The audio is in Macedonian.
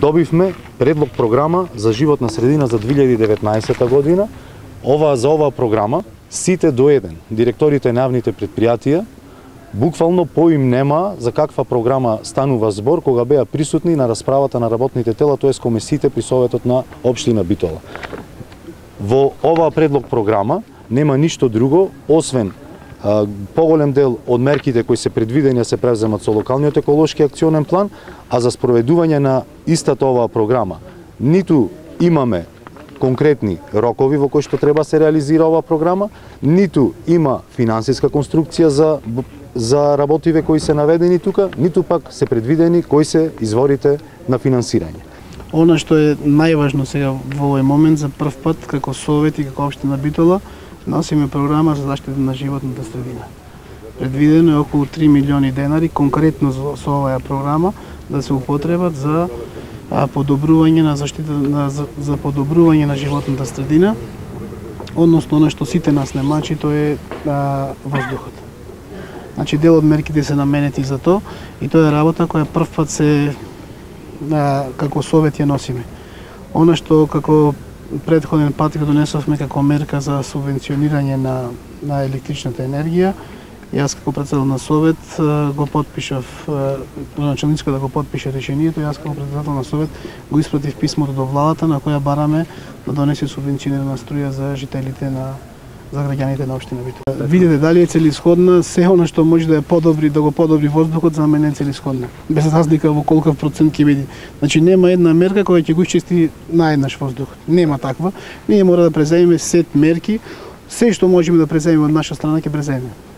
добивме предлог програма за животна средина за 2019 година. За оваа програма сите до еден, директорите на јавните претпријатија, буквално поим нема за каква програма станува збор кога беа присутни на расправата на работните тела, тоест комисиите при Советот на општина Битола. Во оваа предлог програма нема ништо друго освен поголем дел од мерките кои се предвидени се превземат со локалниот еколошки акционен план, а за спроведување на истата оваа програма ниту имаме конкретни рокови во кои што треба се реализира оваа програма, ниту има финансиска конструкција за работиве кои се наведени тука, ниту пак се предвидени кои се изворите на финансирање. Она што е најважно сега во овој момент, за прв пат како Совет и како општина Битола носиме програма за заштита на животната средина. Предвидено е околу 3 милиони денари конкретно со оваа програма да се употребат за подобрување на заштита за подобрување на животната средина, односно она што сите нас не мачи, тоа е воздухот. Значи дел од мерките се наменети за тоа и тоа е работа која прв пат се како Совет ја носиме. Она што како претходен пат го донесовме како мерка за субвенционирање на електричната енергија, јас како председател на Совет го подпишав, началниците да го подпише решението, јас како председател на Совет го испратив писмото до владата на која бараме да донесе субвенционирана струја за жителите за граѓаните на општина Битола. Видете дали е целисходна, се она што може да го подобри воздухот, за мене е целисходна. Без разлика во колков процент ќе биде. Значи нема една мерка која ќе го исчисти наеднаш воздухот. Нема таква. Ние мора да преземеме сет мерки, се што можеме да преземеме од наша страна ќе преземеме.